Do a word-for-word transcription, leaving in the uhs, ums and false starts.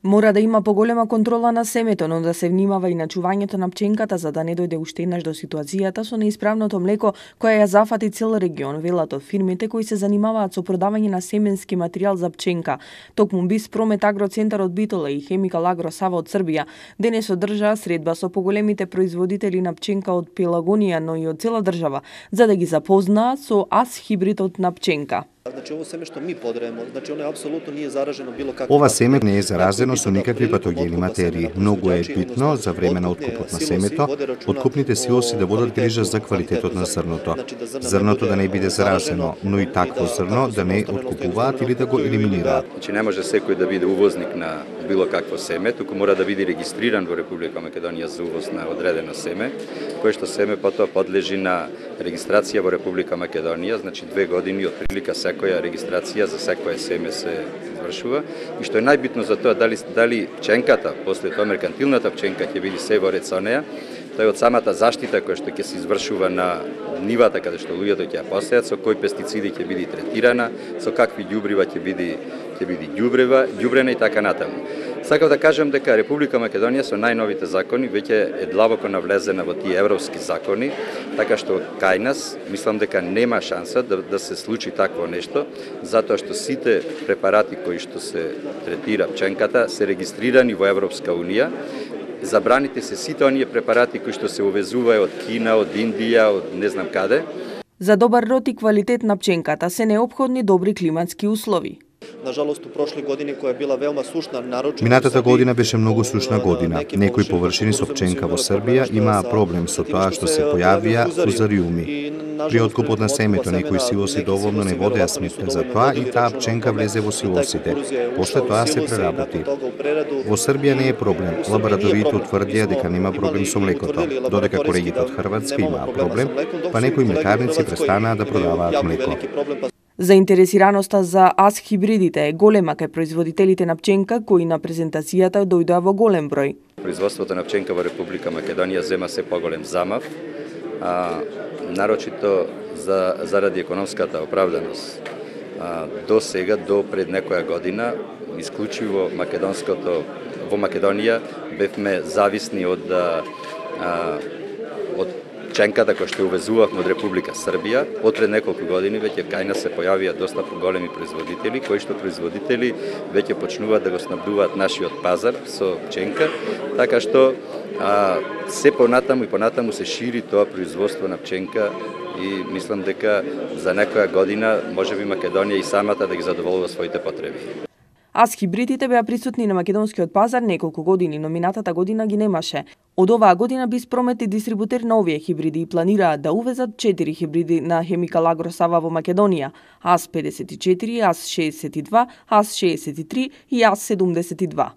Мора да има поголема контрола на семето, но да се внимава и на чувањето на пченката за да не дојде уште еднаш до ситуацијата со неисправното млеко која ја зафати цел регион, велат од фирмите кои се занимаваат со продавање на семенски материјал за пченка. Токму Биспромет Агроцентар од Битола и Хемикал Агро Сава од Србија денес одржаа средба со поголемите производители на пченка од Пелагонија, но и од цела држава, за да ги запознаат со ас хибридот на пченка. Значи ово семе што ми подреемо, значи оно апсолутно не е заражено било како. Ова семе не е заразено со никакви патогени материи. Многу е битно за време на откупот на семето, откупните силоси да водат грижа за квалитетот на зрното. Зрното да не биде заразено, но и такво зрно да не откупуваат или да го елиминираат. Значи не може секој да биде увозник на било какво семе, туку мора да биде регистриран во Република Македонија за увоз на одредено семе, кое што семе потоа подлежи на регистрација во Република Македонија, значи две години од прилика секоја регистрација за секое семе се извршува и што е најбитно за тоа дали дали пченката после тоа меркантилната пченка ќе биде се во ред со неа, тоа е од самата заштита која што ќе се извршува на нивата каде што луѓето ќе ја посеат, со кои пестициди ќе биде третирана, со какви ѓубрива ќе биде ќе биде ѓубрева, ѓубрена и така натаму. Сакав да кажам дека Република Македонија со најновите закони веќе е длабоко навлезена во тие европски закони, така што кај нас мислам дека нема шанса да, да се случи такво нешто, затоа што сите препарати кои што се третира пченката се регистрирани во Европска унија. Забраните се сите оние препарати кои што се увезуваат од Кина, од Индија, од не знам каде. За добар род и квалитет на пченката се неопходни добри климатски услови. Нажалост, у прошли години која била велма сушна, нарочно. Минатата година беше многу сушна година. Некои површини со пченка во Србија имаа проблем со тоа што се појавија фузариуми. При откупот на семето некои силоси доволно не водеа сметка за тоа и таа пченка влезе во силосите. После тоа се преработи. Во Србија не е проблем. Лабораториите утврдија дека нема проблем со млекото, додека колегите од Хрватска имаа проблем, па некои млекарници престанаа да продаваат млеко. Заинтересираноста за ас хибридите е голема кај производителите на пченка кои на презентацијата дојдоа во голем број. Производството на пченка во Република Македонија зема се поголем замав, а, нарочито за, заради економската оправданост. А, до сега, до пред некоја година, исклучиво македонското во Македонија бевме зависни од а, од пченката која што увезувавме од Република Србија. Од пред неколку години веќе кај нас се појавија доста големи производители, кои што производители веќе почнуваат да го снабдуваат нашиот пазар со пченка, така што а, се понатаму и понатаму се шири тоа производство на пченка и мислам дека за некоја година можеби Македонија и самата да ги задоволува своите потреби. Ас хибридите беа присутни на македонскиот пазар неколку години, но минатата година ги немаше. Од оваа година Биспромет е дистрибутер на овие хибриди и планираат да увезат четири хибриди на Хемикал Агро Сава во Македонија: ас педесет и четири, ас шеесет и два, ас шеесет и три и ас седумдесет и два.